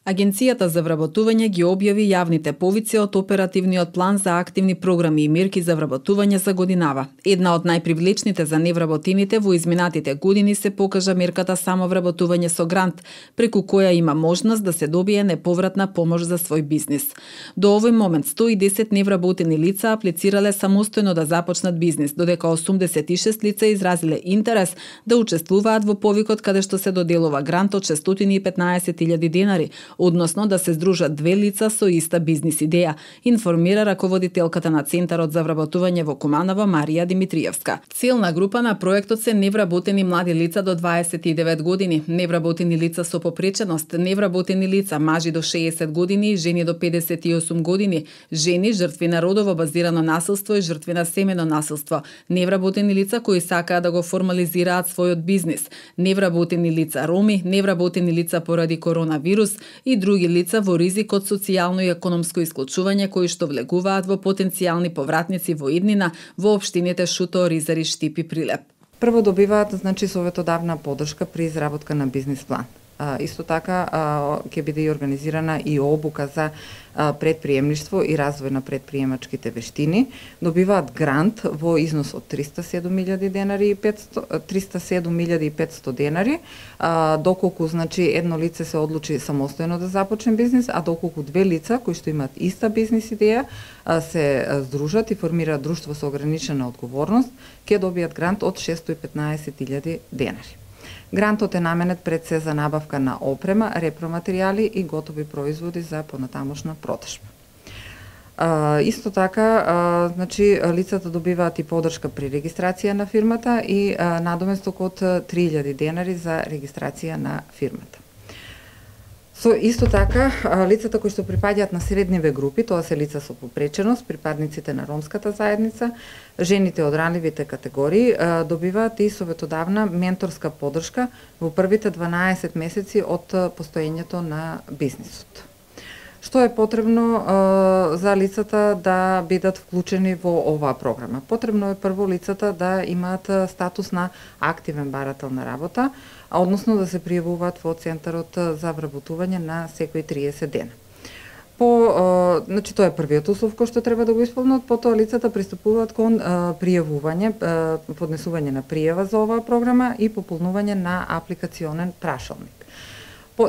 Агенцијата за вработување ги објави јавните повици од оперативниот план за активни програми и мерки за вработување за годинава. Една од најпривлечните за невработените во изминатите години се покажа мерката самовработување со грант, преку која има можност да се добие неповратна помош за свој бизнис. До овој момент 110 невработени лица аплицирале самостојно да започнат бизнис, додека 86 лица изразиле интерес да учествуваат во повикот каде што се доделува грант од 615.000 денари, односно да се здружат две лица со иста бизнис идеја, информира раководителката на Центарот за вработување во Куманово Марија Димитриевска. Целна група на проектот се невработени млади лица до 29 години, невработени лица со попреченост, невработени лица мажи до 60 години и жени до 58 години, жени жртви на родово базирано насилство и жртви на семено насилство, невработени лица кои сакаат да го формализираат својот бизнис, невработени лица роми, невработени лица поради коронавирус и други лица во ризик од социјално и економско исклучување кои што влегуваат во потенцијални повратници во иднина во општините Шуто, Ризари, Штип и Прилеп. Прво добиваат советодавна поддршка при изработка на бизнис план. Исто така ќе биде и организирана и обука за предприемништво и развој на предприемачките вештини. Добиваат грант во износ од 307.000 денари и 307.500 денари, доколку едно лице се одлучи самостојно да започне бизнис, а доколку две лица кои што имаат иста бизнис идеја се здружат и формираат друштво со ограничена одговорност, ќе добијат грант од 615.000 денари. Грантот е наменет пред се за набавка на опрема, репроматеријали и готови производи за понатамошна продажба. Исто така, лицата добиваат и поддршка при регистрација на фирмата и надоместок од 3.000 денари за регистрација на фирмата. Исто така, лицата кои што припаѓаат на средниве групи, тоа се лица со попреченост, припадниците на ромската заедница, жените од ранливите категории, добиваат и советодавна менторска поддршка во првите 12 месеци од постоењето на бизнисот. Што е потребно за лицата да бидат вклучени во оваа програма? Потребно е прво лицата да имаат статус на активен барател на работа, односно да се пријавуваат во Центарот за вработување на секои 30 дена. Тоа е првиот услов кој што треба да го исполнат, потоа лицата пристапуваат кон пријавување, поднесување на пријава за оваа програма и пополнување на апликационен прашалник.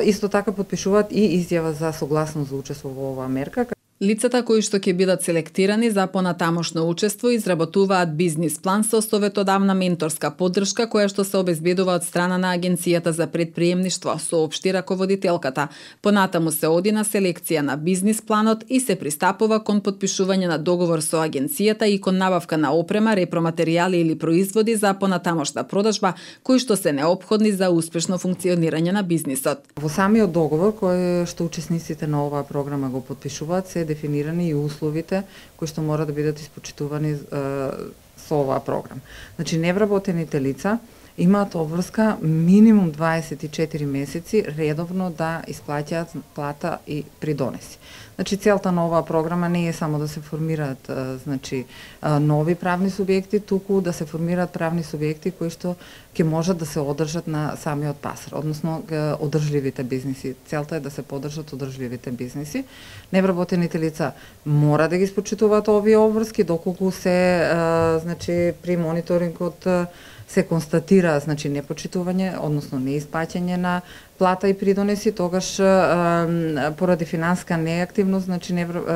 Исто така подпишуваат и изјава за согласност за учество во оваа мерка. Лицата кои што ќе бидат селектирани за понатамошно учество изработуваат бизнис план со советодавна менторска поддршка која што се обезбедува од страна на Агенцијата за предприемништво, соопшти раководителката. Понатаму се оди на селекција на бизнис планот и се пристапува кон подпишување на договор со Агенцијата и кон набавка на опрема, репроматеријали или производи за понатамошна продажба кои што се неопходни за успешно функционирање на бизнисот. Во самиот договор кој што учесниците на оваа програма го подпишуваат се дефинирани и условите кои што мора да бидат испочитувани со оваа програма. Невработените лица имаат обврска минимум 24 месеци редовно да исплаќаат плата и придонеси. Целта на оваа програма не е само да се формираат нови правни субјекти, туку да се формираат правни субјекти кои што ќе можат да се одржат на самиот пазар, односно одржливите бизниси. Целта е да се поддржат одржливите бизниси. Невработените лица мора да ги испочитуваат овие обврски, доколку се при мониторингот се констатира непочитување, односно неисплаќање на плата и придонеси, тогаш поради финансиска неактивност,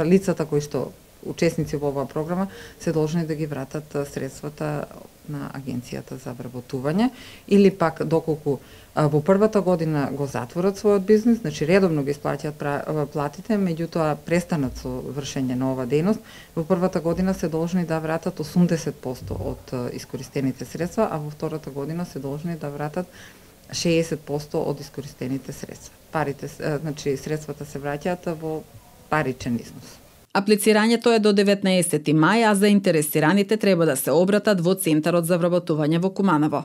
лицата кои што учесници во оваа програма се должни да ги вратат средствата на Агенцијата за вработување или пак доколку во првата година го затворат својот бизнис, редовно ги исплаќаат платите, меѓутоа престанат со вршење на оваа дејност, во првата година се должни да вратат 80% од искористените средства, а во втората година се должни да вратат 60% од искористените средства. Средствата се враќаат во паричен износ. Аплицирањето е до 19 мај, а заинтересираните треба да се обратат во Центарот за вработување во Куманово.